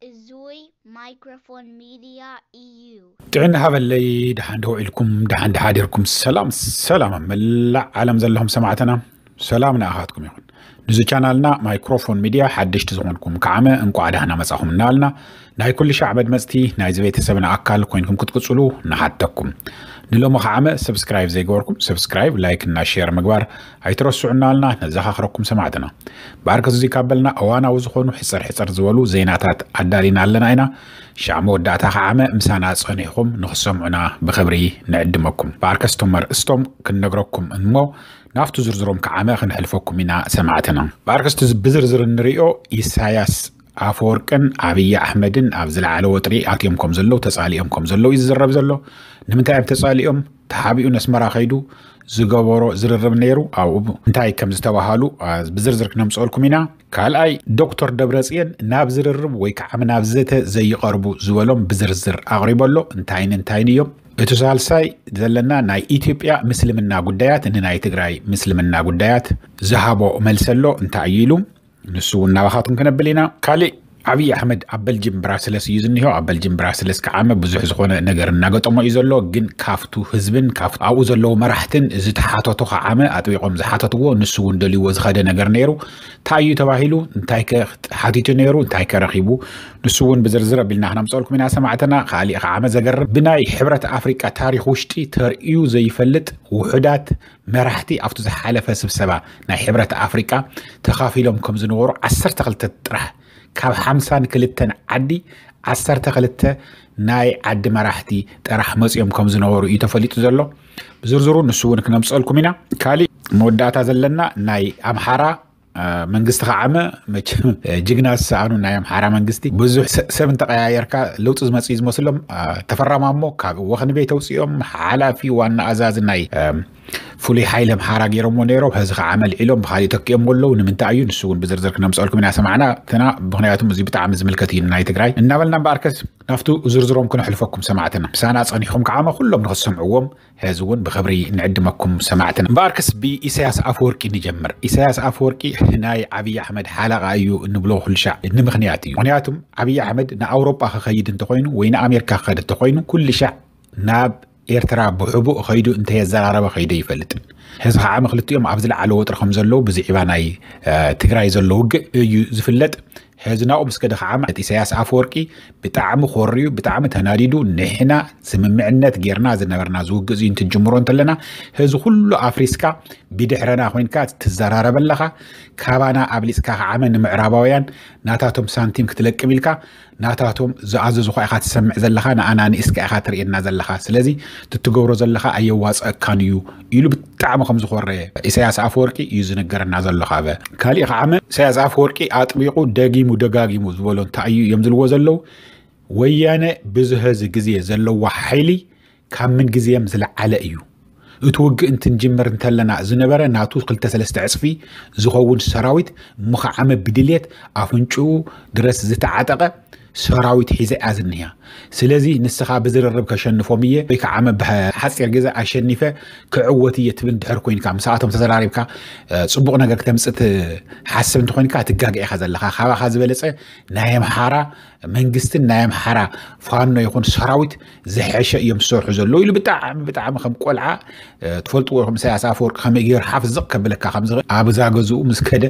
እዙይ ማይክሮፎን ሚድያ እዩ። ጥዕና ሃበለይ። ደሓን ዶ ውዒልኩም? ደሓን ደሓዲርኩም? ሰላም ሰላም ኣብ መላእ ዓለም ዘለኹም ሰማዕትና፣ ሰላም ንኣኻትኩም ይኹን። ንዚ ቻናልና ማይክሮፎን ሚድያ ሓደሽቲ ዝኾንኩም ከዓመ እንቋዕ ደህና መጻኹም እናበልና፣ ናይ ኩሉ ሻዕ መድመጽቲ ናይዚ ቤተሰብና ኣካል ኮይንኩም ክትቅጽሉ ንሓተኩም። ንሎሚ ከዓመ ሰብስክራይብ ዘይገበርኩም ሰብስክራይብ፣ ላይክ እና ሼር ምግባር ኣይትረስዑ እናበልና ነዘኻኽረኩም ሰማዕትና። ብኣርከስ እዙይ ካብ በልና እዋናዊ ዝኾኑ ሕጽር ሕጽር ዝበሉ ዜናታት ኣዳሊና ኣለና ኢና። ሻዕ መወዳእታ ከዓመ ምሳና ጸኒሕኹም ንኽሰምዑና ብኽብሪ ንዕድመኩም። ብኣርከስ እቶም ኣርእስቶም ክንነግረኩም እሞ ናብቲ ዝርዝሮም ከዓመ ክንሕልፈኩም ኢና ሰማዕትና። ብኣርከስቲ ብዝርዝር እንሪኦ ኢሳያስ ኣፈወርቅን ኣብይ ኣሕመድን ኣብ ዝለዓለ ወጥሪ ኣትዮም ከም ዘለዉ ተጻሊኦም ከም ዘለዉ እዩ ዝዝረብ ዘሎ። ንምንታይ እዮም ተጻሊኦም? ተሓቢኡ ነስመራ ከይዱ ዝገበሮ ዝርርብ ነይሩ። ኣብኡ እንታይ ከም ዝተባሃሉ አ፣ ብዝርዝር ክነምፅኦልኩም ኢና። ካልኣይ ዶክተር ደብረፅየን ናብ ዝርርብ ወይ ከዓ ናብ ዘተ ዘይቐርቡ ዝበሎም ብዝርዝር ኣቕሪቡ ኣሎ። እንታይን እንታይን እዮም? እቲ ሳልሳይ ዘለና ናይ ኢትዮጵያ ምስልምና ጉዳያት ንናይ ትግራይ ምስልምና ጉዳያት ዝሃቦ መልሲ ኣሎ። እንታይ እዩ ኢሉ? ንሱ እውን ናባኻትኩም ክነብል ኢና። ካሊእ ኣብይ ኣሕመድ ኣብ በልጅም ብራስለስ እዩ ዝኒሆ። ኣብ በልጅም ብራስለስ ከዓመ ብዙሕ ዝኾነ ነገር እናገጠሞ እዩ ዘሎ። ግን ካብቱ ህዝብን ካብቱ ኣብኡ ዘለዉ መራሕትን ዝተሓተቶ ከዓመ ኣጥቢቖም ዝሓተትዎ፣ ንሱ እውን ደልይዎ ዝኸደ ነገር ነይሩ። እንታይ እዩ ተባሂሉ? እንታይ ከ ሓቲቱ ነይሩ? እንታይ ከ ረኺቡ? ንሱ እውን ብዝርዝር ኣቢልና ክነምፀልኩም ኢና ሰማዕትና። ካሊእ ከዓመ ዘገርም ብናይ ሕብረት ኣፍሪቃ ታሪኽ ውሽጢ ተርእዩ ዘይፈልጥ ውሑዳት መራሕቲ ኣብቲ ዝሓለፈ ስብሰባ ናይ ሕብረት ኣፍሪቃ ተኻፊሎም ከም ዝነበሩ ዓሰርተ ክልተ ጥራሕ ካብ ሓምሳን ክልተን ዓዲ ዓሰርተ ክልተ ናይ ዓዲ መራሕቲ ጥራሕ መፂኦም ከም ዝነበሩ እዩ ተፈሊጡ ዘሎ። ብዝርዝሩ ንሱ እውን ክነምፀልኩም ኢና። ካሊእ መወዳእታ ዘለና ናይ ኣምሓራ አ፣ መንግስቲ ከዓመ መቸም አ፣ ጅግና ዝሰኣኑ ናይ ኣምሓራ መንግስቲ ብዙሕ ሰ- ሰብ እንተቀያየርካ ለውጢ ዝመፅእ እዩ ዝመስሎም። አ፣ ተፈራማሞ ካብ ወኽኒ ቤት ኣውፅኦም ሓላፊ ዋና ኣዛዚ ናይ አ፣ ፍሉይ ሓይሊ ኣምሓራ ገይሮምዎ ነይሮም። ሕዚ ከዓመ ልዒሎም ብካሊእ ተኪኦም ኣለዉ። ንምንታይ እዩ? ንሱ እውን ብዝርዝር ክነምፀልኩም ኢና ሰማዕና ትና። ምክንያቱም እዚ ብጣዕሚ ዝምልከት እዩ ናይ ትግራይ እናበልና እምበኣርከስ ናብቱ ዝርዝሮም ክነሕልፈኩም ሰማዕትና። ምሳና ፀኒሕኩም ከዓመ ኩሎም ንክትሰምዕዎም ሕዚ እውን ብኽብሪ ንዕድመኩም ሰማዕትና። እምበኣርከስ ብኢሳያስ ኣፈወርቂ ንጀምር። ኢሳያስ ኣፈወርቂ ናይ ኣብይ ኣሕመድ ሓለቓ እዩ እንብሎ ኩልሻዕ ንምኽንያት እዩ። ምኽንያቱም ኣብይ ኣሕመድ ንኣውሮጳ ክኸይድ እንተኾይኑ ወይ ንኣሜሪካ ክኸድ እንተኾይኑ ኩልሻዕ ናብ ኤርትራ ብሕቡእ ኸይዱ እንተየዘራረበ ኸይደ ይፈልጥን። ሕዚ ከዓ መክልቲኦም ኣብ ዝለዓለ ወጥሪ ከም ዘለዉ ብዝዒባ ናይ ትግራይ ዘሎ ውግእ እዩ ዝፍለጥ። ሕዚ ናብኡ ምስ ከደ ከዓ ማለት ኢሳያስ ኣፈወርቂ ብጣዕሚ ኮርዩ ብጣዕሚ ተናዲዱ፣ ንሕና ስምምዕነት ጌርና ዝነበርና ዝውግእ እዚ እንትጅምሮ እንተለና ሕዚ ኩሉ ኣፍሪስካ ብድሕረና ኮይንካ ትዘራረብ ኣለኻ። ካባና ኣብሊፅካ ከዓመ ንምዕራባውያን ናታቶም ሳንቲም ክትለቅም ኢልካ ናታቶም ዝኣዘዙኻ ኢኻ ትሰምዕ ዘለኻ፣ ንኣና ንእስካ ኢኻ ትርእየና ዘለኻ። ስለዚ ትትገብሮ ዘለኻ ኣየዋፀእካን እዩ ኢሉ ብጣዕሚ ከም ዝኾረ ኢሳያስ ኣፈወርቂ እዩ ዝነገረና ዘሎ። ካበ ካሊእ ከዓመ ኢሳያስ ኣፈወርቂ ኣጥቢቑ ደጊሙ ደጋጊሙ ዝበሎ እንታይ እዩ እዮም ዝልዎ ዘለዉ? ወያነ ብዙ ህዚ ግዜ ዘለዋ ሓይሊ ካብ ምን ግዜም ዝለዓለ እዩ። እቲ ውግእ እንትንጅምር እንተለና ዝነበረ ናቱ ክልተ ሰለስተ ዕፅፊ ዝኸውን ሰራዊት ምኸዓመ ብድልየት ኣፍንጭኡ ድረስ ዝተዓጠቐ ሰራዊት ሒዘ እያ ዝኒሃ። ስለዚ ንስኻ ብዝርርብ ከሸንፎም እየ ወይ ከዓ ብሓፂር ግዜ ኣሸኒፈ ክዕወት እየ ትብል ድሕር ኮይንካ ምስኣቶም ተዘራሪብካ እ፣ ፅቡቕ ነገር ክተምፅእ ትሓስብ እንተኮይንካ ትጋገ ኢኻ ዘለኻ። ካባኻ ዝበለፀ ናይ ኣምሓራ መንግስትን ናይ ኣምሓራ ፋኖ ይኹን ሰራዊት ዝሐሸ እዮም ዝሰርሑ ዘለዉ ኢሉ ብጣዕሚ ብጣዕሚ ከም ቆልዓ እ፣ ትፈልጥዎ ኢኹም። ኢሳያስ ኣፈወርቂ ከመይ ገይሩ ሓፍ ዝቕ ከብለካ ከም ዝኽእል ኣብዛ ገዝኡ ምስ ከደ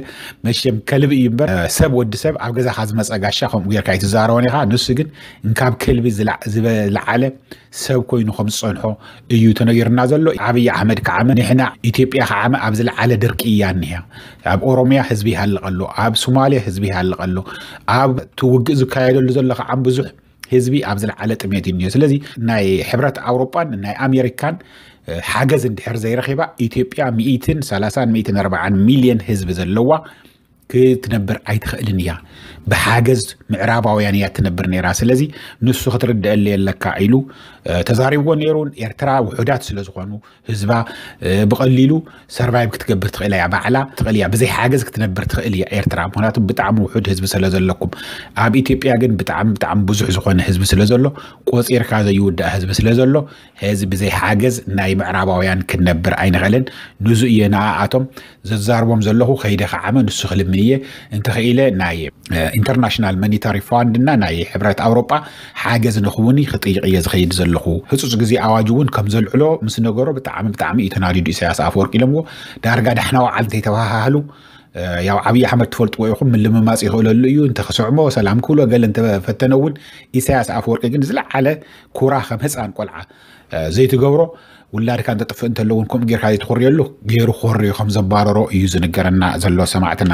መሸም ከልቢ እዩ እምበር እ፣ ሰብ ወዲ ሰብ ኣብ ገዛኻ ዝመፀ ጋሻ ከምኡ ጌርካ ኣይትዛረቦን ኢኻ። ንሱ ግን እንካብ ከልቢ ዝላ- ዝበ- ዝለዓለ ሰብ ኮይኑ ከም ዝፀንሖ እዩ ተነጊርና ዘሎ። ኣብይ ኣሕመድ ከዓመ ንሕና ኢትዮጵያ ከዓመ ኣብ ዝለዓለ ድርቂ እያ እኒሃ። ኣብ ኦሮሚያ ህዝቢ ይሃልቕ ኣሎ፣ ኣብ ሶማሊያ ህዝቢ ይሃልቕ ኣሎ፣ ኣብ እቲ ውግእ ዝካየደሉ ዘሎ ከዓም ብዙሕ ህዝቢ ኣብ ዝለዓለ ጥሜት እዩ እኒሆ። ስለዚ ናይ ሕብረት ኣውሮጳን ናይ ኣሜሪካን እ፣ ሓገዝ እንድሕር ዘይረኺባ ኢትዮጵያ ሚእትን ሰላሳን ሚእትን ኣርባዓን ሚልዮን ህዝቢ ዘለዋ ክትነብር ኣይትኽእልን እያ። ብሓገዝ ምዕራባውያን እያ ትነብር ነይራ። ስለዚ ንሱ ክትርድአለይ ኣለካ ኢሉ እ፣ ተዛሪብዎ ነይሩ። ኤርትራ ውሑዳት ስለ ዝኾኑ ህዝባ እ፣ ብቐሊሉ ሰርቫይቭ ክትገብር ትኽእል እያ፣ ባዕላ ትኽእል እያ፣ ብዘይ ሓገዝ ክትነብር ትኽእል እያ ኤርትራ። ምክንያቱ ብጣዕሚ ውሑድ ህዝቢ ስለ ዘለኩም። ኣብ ኢትዮጵያ ግን ብጣዕሚ ብጣዕሚ ብዙሕ ዝኾነ ህዝቢ ስለ ዘሎ፣ ቆፂርካ ዘይውዳእ ህዝቢ ስለ ዘሎ፣ ሕዚ ብዘይ ሓገዝ ናይ ምዕራባውያን ክንነብር ኣይንኽእልን። ንዙ እየ ንኣኣቶም ዘዛርቦም ዘለኹ። ከይደ ከዓመ ንሱ ክልምን እየ። እንተኽኢለ ናይ ኢንተርናሽናል ማኒታሪ ፋንድ እና ናይ ሕብረት ኣውሮጳ ሓገዝ ንኽውኒ ክጥይቕ እየ ዝኸይድ ዘለኹ። ህፁፅ ግዜ ኣዋጅ እውን ከም ዘልዕሎ ምስ ነገሮ ብጣዕሚ ብጣዕሚ እዩ ተናዲዱ ኢሳያስ ኣፈወርቂ ኢሎምዎ። ዳርጋ ዳሕና ወዓል እንተይተባሃሃሉ ያው ዓብዪ ኣሕመድ ትፈልጥዎ ኢኹም፣ ምልምማፅ ይኽእለሉ እዩ። እንተክስዕሞ ሰላም ክብሎ ገለ እንተፈተነ እውን ኢሳያስ ኣፈወርቂ ግን ዝለዓለ ኩራ ከም ህፃን ቆልዓ ዘይትገብሮ ውላድካ እንተጥፍእ እንተለውን ከምኡ ጌርካ ዘይትኾርየሉ ገይሩ ክኾርዮ ከም ዘባረሮ እዩ ዝንገረና ዘሎ ሰማዕትና።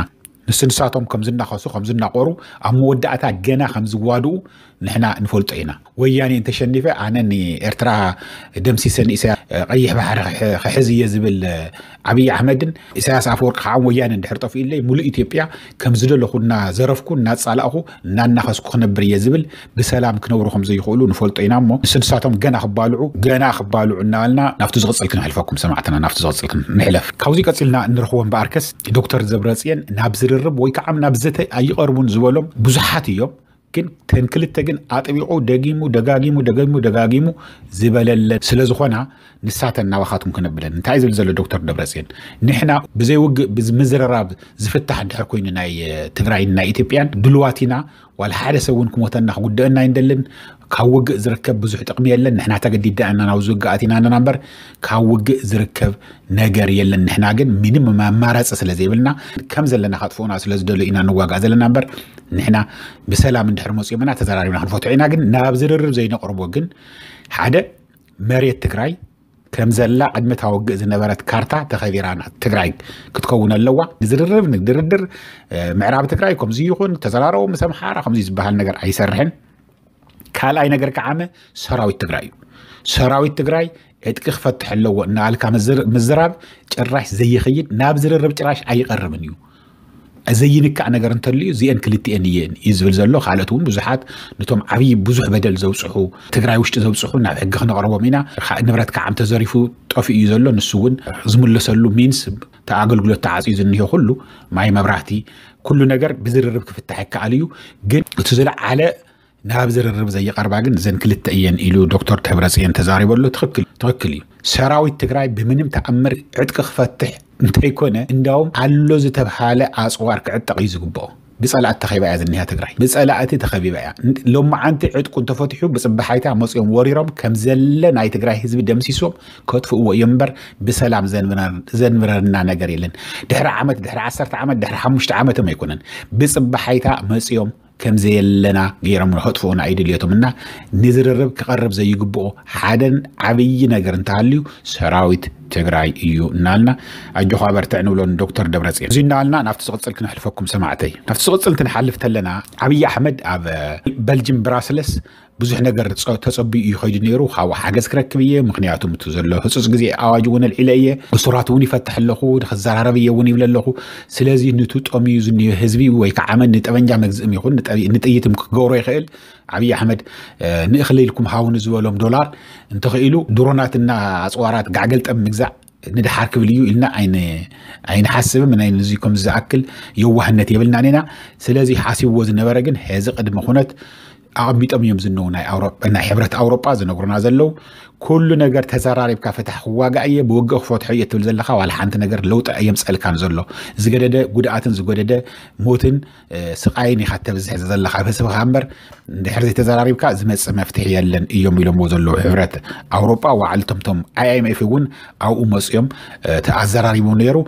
ንሱ ንሳቶም ከም ዝናኸሱ ከም ዝናቆሩ ኣብ መወዳእታ ገና ከም ዝዋድኡ ንሕና ንፈልጦ ኢና። ወያኔ እንተሸኒፈ ኣነ ንኤርትራ ደምሲሰ ንኢሳያ ቀይሕ ባሕሪ ክሕዝ እየ ዝብል ዓብዪ ኣሕመድን ኢሳያስ ኣፈወርቂ ከዓ ወያነ እንድሕር ጠፊኡለይ ሙሉእ ኢትዮጵያ ከም ዝደለኹ እናዘረፍኩ እናጻላእኹ እናናኸስኩ ክነብር እየ ዝብል ብሰላም ክነብሩ ከም ዘይኽእሉ ንፈልጦ ኢና እሞ ንሱ ንሳቶም ገና ክባልዑ ገና ክባልዑ እናበልና ናብቲ ዝቕፅል ክንሕልፈኩም ሰማዕትና ናብቲ ዝቕፅል ንሕለፍ። ካብዚ ቀፂልና እንረኽቦ እምበኣርከስ ዶክተር ዘብረፅየን ናብ ዝርርብ ወይ ከዓ ናብ ዘተ ኣይቐርቡን ዝበሎም ብዙሓት እዮም። ግን ተን ክልተ ግን ኣጥቢቑ ደጊሙ ደጋጊሙ ደጊሙ ደጋጊሙ ዝበለለን ስለዝኾና ንሳተን ናባኻትኩም ክነብለን እንታይ ዝብል ዘሎ ዶክተር ደብረፅየን ንሕና ብዘይ ውግእ ምዝረራብ ዝፍታሕ እንድሕር ኮይኑ ናይ ትግራይን ናይ ኢትዮጵያን ድልዋት ኢና። ዋላ ሓደ ሰብ እውን ክሞተና ክጉደአና ኣይንደልን። ካብ ውግእ ዝርከብ ብዙሕ ጥቕሚ የለን። ንሕና ተገዲድና ኢና ናብዚ ውግእ ኣቲና ኣለና እምበር ካብ ውግእ ዝርከብ ነገር የለን። ንሕና ግን ምንም ኣማራፂ ስለ ዘይብልና ከም ዘለና ከጥፍኡና ስለ ዝደልዩ ኢና ንዋጋእ ዘለና እምበር ንሕና ብሰላም እንድሕር መፅኦምና ተዘራሪብና ክንፈትሖ ኢና። ግን ናብ ዝርርብ ዘይነቕርቦ ግን ሓደ መሬት ትግራይ ከም ዘላ ቅድሚ እታ ውግእ ዝነበረት ካርታ ተኸቢራ ትግራይ ክትከውን ኣለዋ። ንዝርርብ ንድርድር ምዕራብ ትግራይ ከምዚ ይኹን ተዘራረቡ ምስ ኣምሓራ ከምዚ ዝበሃል ነገር ኣይሰርሕን። ካልኣይ ነገር ከዓመ ሰራዊት ትግራይ እዩ። ሰራዊት ትግራይ ዕጥቂ ክፈትሕ ኣለዎ እናልካ ምዝራብ ጭራሽ ዘይኸይድ ናብ ዝርርብ ጭራሽ ኣይቐርብን እዩ። ዘይንካእ ነገር እንተልዩ እዚአን ክልቲአን እየን እዩ ዝብል ዘሎ። ካልኦት እውን ብዙሓት ነቶም ዓብዪ ብዙሕ በደል ዘብፅሑ ትግራይ ውሽጢ ዘብፅሑ ናብ ሕጊ ክነቕርቦም ኢና። ንብረት ከዓም ተዘሪፉ ጠፊኡ እዩ ዘሎ። ንሱ እውን ዝምለሰሉ ሚንስ ኣገልግሎት ተዓፅዩ ዝኒሆ ኩሉ ማይ መብራህቲ ኩሉ ነገር ብዝርርብ ክፍታሕ ይከኣል እዩ። ግን እቲ ዝለዓለ ናብ ዝርርብ ዘይቐርባ ግን እዘን ክልተ እየን ኢሉ ዶክተር ደብረፅየን ተዛሪበሉ። ትኽክል ትኽክል እዩ። ሰራዊት ትግራይ ብምንም ተኣምር ዕጥቂ ክፈትሕ እንተይኮነ እንዳውም ኣሎ ዝተብሃለ ኣፅዋር ክዕጠቕ እዩ ዝግብኦ። ብፀላእቲ ተኸቢባ እያ ዝኒሃ ትግራይ ብፀላእቲ ተኸቢባ እያ። ሎማዓንቲ ዕጥቁ እንተፈትሑ ብፅባሓይታ መፅኦም ወሪሮም ከም ዘለ ናይ ትግራይ ህዝቢ ደምሲሶም ከጥፍእዎ እዮም እምበር ብሰላም ዘንብረና ነገር የለን። ድሕሪ ዓመት ድሕሪ ዓሰርተ ዓመት ድሕሪ ሓሙሽተ ዓመትም ኣይኮነን ብፅባሓይታ መፅኦም ከም ዘየለና ገይሮም ከጥፍኡና እዩ ድልየቶም እና ንዝርርብ ክቐርብ ዘይግብኦ ሓደን ዓብዪ ነገር እንተሃልዩ ሰራዊት ትግራይ እዩ እናልና ኣጆኻ በርትዕ ንብሎ ንዶክተር ደብረፅዮን እዚ እናበልና ናብቲ ዝቕፅል ክንሕልፈኩም ሰማዕተይ። ናብቲ ዝቕፅል እንትንሓልፍ ተለና ዓብዪ ኣሕመድ ኣብ በልጅም ብራስለስ ብዙሕ ነገር ተፀቢኡ እዩ ከይዱ ነይሩ። ካብኡ ሓገዝ ክረክብ እየ ምክንያቱ እቲ ዘሎ ህፁፅ ግዜ ኣዋጅ እውን ኣልዒለ እየ። እሱራት እውን ይፈትሕ ኣለኹ ክዘራረብ እየ እውን ይብል ኣለኹ። ስለዚ ንቱ ጠምዩ ዝኒዮ ህዝቢ ወይ ከዓ መን ንጠበንጃ መግዝእም ይኹን ንጥይትም ክገብሮ ይኽእል። ዓብዪ ኣሕመድ ንእኽሊ ኢልኩም ሃውኒ ዝበሎም ዶላር እንተኽኢሉ ድሮናትና ኣፅዋራት ጋዕገልጠም ምግዛእ ንድሓር ክብል እዩ ኢልና ኣይንሓስብም። ናይ ንዚ ከም ዝኣክል የዋህነት የብልናን ኢና። ስለዚ ሓሲብዎ ዝነበረ ግን ሕዚ ቅድሚ ኩነት ኣቐሚጦም እዮም ዝነው ናይ ኣውሮጳ ናይ ሕብረት ኣውሮጳ ዝነግሩና ዘለዉ። ኩሉ ነገር ተዘራሪብካ ፍታሕ ክዋጋእ እየ ብውግእ ክፈትሖ እየ ትብል ዘለኻ ዋላ ሓንቲ ነገር ለውጢ ኣየምፀልካን ዘሎ። ዝገደደ ጉድኣትን ዝጎደደ ሞትን ስቃይን ኢኻ ተብዝሕ ዘለኻ ህዝብኻ እምበር እንድሕር ዘይተዘራሪብካ ዝመፅእ መፍትሒ የለን እዮም ኢሎምዎ ዘለዉ። ሕብረት ኣውሮጳ ዋዕልቶምቶም ኣይኣይምኤፍ እውን ኣብኡ መፅኦም ኣዘራሪቦም ነይሩ።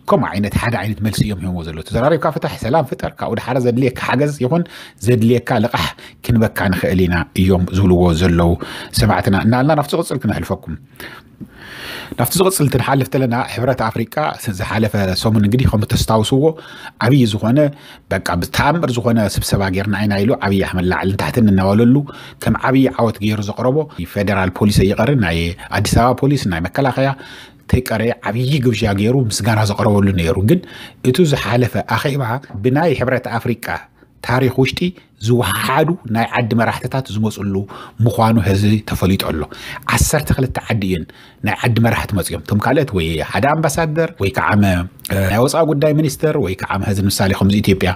ከምኡ ዓይነት ሓደ ዓይነት መልሲ እዮም ሂቦምዎ ዘለዉ። ተዘራሪብካ ፍታሕ ሰላም ፍጠር ካብኡ ድሓረ ዘድልየካ ሓገዝ ይኹን ዘድልየካ ልቓሕ ክንበካ ንኽእል ኢና እዮም ዝብልዎ ዘለዉ። ሰማዕትና እናልና ናብቲ ዝቕፅል ክነሕልፈኩም። ናብቲ ዝቕፅል እንትንሓልፍ ተለና ሕብረት ኣፍሪቃ ዝሓለፈ ሰሙን እንግዲህ ከም ተስታውስዎ ዓብዪ ዝኾነ በቃ ብተኣምር ዝኾነ ስብሰባ ጌርና ኢና ኢሉ ዓብዪ ኣሕመድ ላዕልን ታሕትን እናበለሉ ከም ዓብዪ ዓወት ገይሩ ዘቕረቦ ፌደራል ፖሊስ ኣይቐር ናይ ኣዲስ ኣበባ ፖሊስ ናይ መከላኸያ ተይቀረየ ዓብዪ ግብዣ ገይሩ ምስጋና ዘቕረበሉ ነይሩ። ግን እቱ ዝሓለፈ ኣኼባ ብናይ ሕብረት ኣፍሪቃ ታሪኽ ውሽጢ ዝወሓሓዱ ናይ ዓዲ መራሕትታት ዝመፅሉ ምዃኑ ሕዚ ተፈሊጡ ኣሎ። ዓሰርተ ክልተ ዓዲ እየን ናይ ዓዲ መራሕቲ መፅኦም። እቶም ካልኦት ወይ ሓደ ኣምባሳደር ወይ ከዓ ናይ ወፃኢ ጉዳይ ሚኒስተር ወይ ከዓ ሕዚ ንምሳሌ ከምዚ ኢትዮጵያ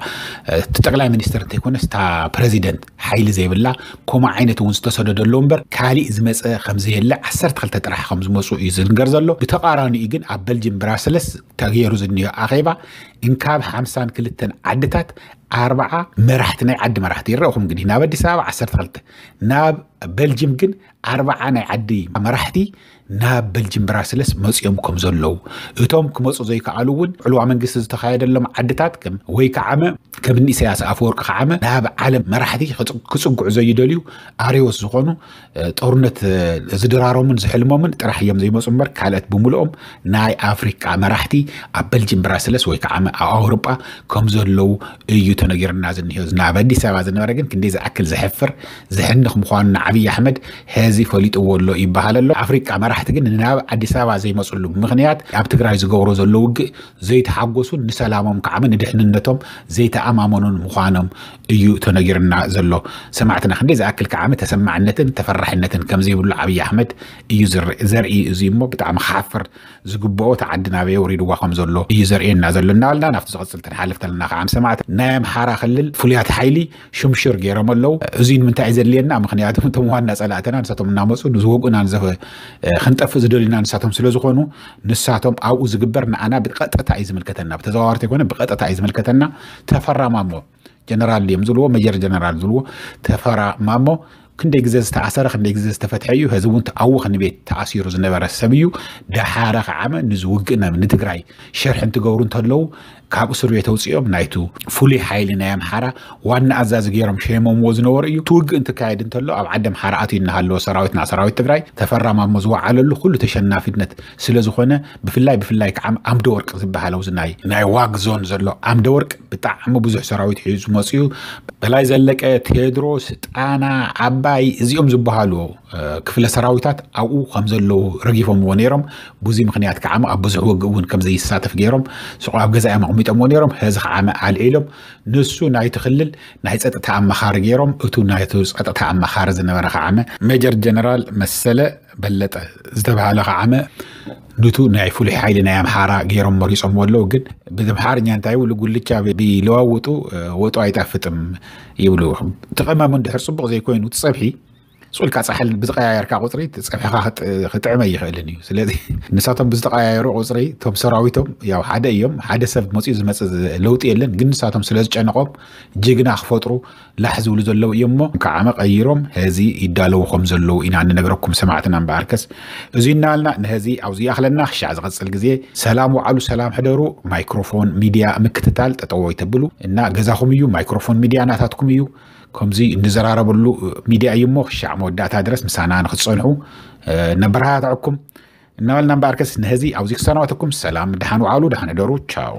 እቲ ጠቅላይ ሚኒስተር እንተይኮነስ እታ ፕረዚደንት ሓይሊ ዘይብላ ከምኡ ዓይነት እውን ዝተሰደደሉ እምበር ካሊእ ዝመፀ ከምዘየለ ዓሰርተ ክልተ ጥራሕ ከም ዝመፁ እዩ ዝንገር ዘሎ። ብተቃራኒኡ ግን ኣብ በልጅም ብራስለስ ተገይሩ ዝኒኦ ኣኼባ እንካብ ሓምሳን ክልተን ዓድታት ኣርባዓ መራሕቲ ናይ ዓዲ መራሕቲ ይረእኹም እንግዲህ ናብ ኣዲስ ኣበባ ዓሰርተ ክልተ ናብ በልጅም ግን ኣርባዓ ናይ ዓዲ መራሕቲ ናብ በልጅም ብራስለስ መፅኦም ከም ዘለዉ እቶም ክመፁ ዘይከኣሉ እውን ዕልዋ መንግስቲ ዝተኻየደሎም ዓድታት ወይ ከዓመ ከም እኒ ኢሳያስ ኣፈወርቂ ከዓመ ናብ ዓለም መራሕቲ ክፅጉዑ ዘይደልዩ ኣርዮስ ዝኾኑ ጦርነት ዝድራሮምን ዝሕልሞምን ጥራሕ እዮም ዘይመፁ እምበር ካልኦት ብምልኦም ናይ ኣፍሪቃ መራሕቲ ኣብ በልጅም ብራስለስ ወይ ከዓ ኣብ ኣውሮጳ ከም ዘለዉ እዩ ተነጊርና ዝኒሆ። ናብ ኣዲስ ኣበባ ዝነበረ ግን ክንደይ ዝኣክል ዘሕፍር ዘሕንኽ ምዃኑ ንዓብዪ ኣሕመድ ሕዚ ፈሊጥዎ ኣሎ ይበሃል ኣሎ። ኣፍሪቃ መራሕቲ ግን ናብ ኣዲስ ኣበባ ዘይመፅሉ ምኽንያት ኣብ ትግራይ ዝገብሮ ዘሎ ውግእ ዘይተሓጎሱን ንሰላሞም ከዓመ ንድሕንነቶም ዘይተኣማመኑን ምዃኖም እዩ ተነጊርና ዘሎ። ሰማዕትና ክንደይ ዝኣክል ከዓመ ተሰማዕነትን ተፈራሕነትን ከምዘይብሉ ዓብዪ ኣሕመድ እዩ ዘርኢ። እዚ እሞ ብጣዕሚ ክሓፍር ዝግብኦ ተዓዲ ናበይ ወሪድዋ ከም ዘሎ እዩ ዘርእየና ዘሎ እናበልና ናብቲ ዝቐፅል ተንሓልፍ ተለና ከዓ ሰማዕት ናይ ኣምሓራ ክልል ፍሉያት ሓይሊ ሽምሽር ገይሮም ኣለዉ። እዚ ንምንታይ እዩ ዘድልየና? ምክንያቱ እቶም ዋና ፀላእትና ንሳቶም እናመፁ ዝወግኡና ክንጠፍእ ዝደልዩና ንሳቶም ስለ ዝኾኑ ንሳቶም ኣብኡ ዝግበር ንኣና ብቀጥታ እዩ ዝምልከተና፣ ብተዘዋዋርቲ ይኮነ ብቀጥታ እዩ ዝምልከተና። ተፈራ ማሞ ጀነራል እዮም ዝብልዎ፣ መጀር ጀነራል ዝብልዎ ተፈራ ማሞ ክንደይ ግዜ ዝተኣሰረ ክንደይ ግዜ ዝተፈትሐ እዩ። ሕዚ እውን ተኣዊ ክንቤት ተኣሲሩ ዝነበረ ሰብ እዩ። ደሓረ ከዓመ ንዚ ውግእ ናብ ንትግራይ ሸርሒ እንትገብሩ እንተለዉ ካብ እስር ቤት ኣውፅኦም ናይቱ ፍሉይ ሓይሊ ናይ ኣምሓራ ዋና ኣዛዚ ገይሮም ሸይሞምዎ ዝነበሩ እዩ። እቲ ውግእ እንትካየድ እንተሎ ኣብ ዓዲ ኣምሓራ ኣትዩ እናሃለወ ሰራዊትና ሰራዊት ትግራይ ተፈራ ማሞ ዝወዓለሉ ኩሉ ተሸናፊነት ስለ ዝኾነ ብፍላይ ብፍላይ ከዓ ኣምደ ወርቅ ዝበሃል ኣብዚ ናይ ናይ ዋግ ዞን ዘሎ ኣምደ ወርቅ ብጣዕሚ ብዙሕ ሰራዊት ሒዙ መፅኡ። በላይ ዘለቀ፣ ቴድሮስ፣ ጣና፣ ዓባይ እዚኦም ዝበሃሉ ክፍለ ሰራዊታት ኣብኡ ከም ዘለዉ ረጊፎምዎ ነይሮም። ብዙ ምክንያት ከዓ ኣብ ብዙሕ ውግእ እውን ከም ዘይሳተፍ ገይሮም ስቆ ኣብ ገዛኦም ኣቕሚጦምዎ ነይሮም። ሕዚ ከዓ ኣልዒሎም ንሱ ናይቲ ክልል ናይ ፀጥታ ኣመኻሪ ገይሮም እቱ ናይቲ ፀጥታ ኣመኻሪ ዝነበረ ከዓመ ሜጀር ጀነራል መሰለ በለጠ ዝተባሃለ ከዓመ ንቱ ናይ ፍሉይ ሓይሊ ናይ ኣምሓራ ገይሮም መሪፆምዎ ኣለዉ። ግን ብኣምሓርኛ እንታይ ይብሉ? ጉልቻ ቢለዋውጡ ወጡ ኣይጣፍጥም ይብሉ። እቲ ቀመም እንድሕር ፅቡቕ ዘይኮይኑ እቲ ፀብሒ ሱልካ ፃሕል ብዝቀያየርካ ቁፅሪ ፀብሕኻ ክጥዕመ ይኽእልን እዩ። ስለዚ ንሳቶም ብዝተቀያየሩ ቁፅሪ እቶም ሰራዊቶም ያው ሓደ እዮም። ሓደ ሰብ መፅኡ ዝመፅእ ለውጢ የለን። ግን ንሳቶም ስለ ዝጨነቆም ጅግና ክፈጥሩ ላሕ ዝብሉ ዘለዉ እዮም እሞ ከዓመ ቀይሮም ሕዚ ይዳለዉ ከም ዘለዉ ኢና ንነግረኩም ሰማዕትና። እምበኣርከስ እዚ እናበልና ንሕዚ ኣብዚ ይኣኽለና። ክሻዕ ዝቐፅል ግዜ ሰላም ውዓሉ፣ ሰላም ሕደሩ። ማይክሮፎን ሚድያ ምክትታል ጠጠው ኣይተብሉ እና ገዛኹም እዩ። ማይክሮፎን ሚድያ ናታትኩም እዩ። ከምዚ እንዘራረበሉ ሚድያ እዩ እሞ ክሻዕ መወዳእታ ድረስ ምሳና ንክትፀንሑ ነበረታትዐኩም እናበልና እምበኣርከስ ንሕዚ ኣብዚ ክሰናበተኩም ሰላም፣ ደሓን ውዓሉ፣ ደሓን ሕደሩ። ቻው።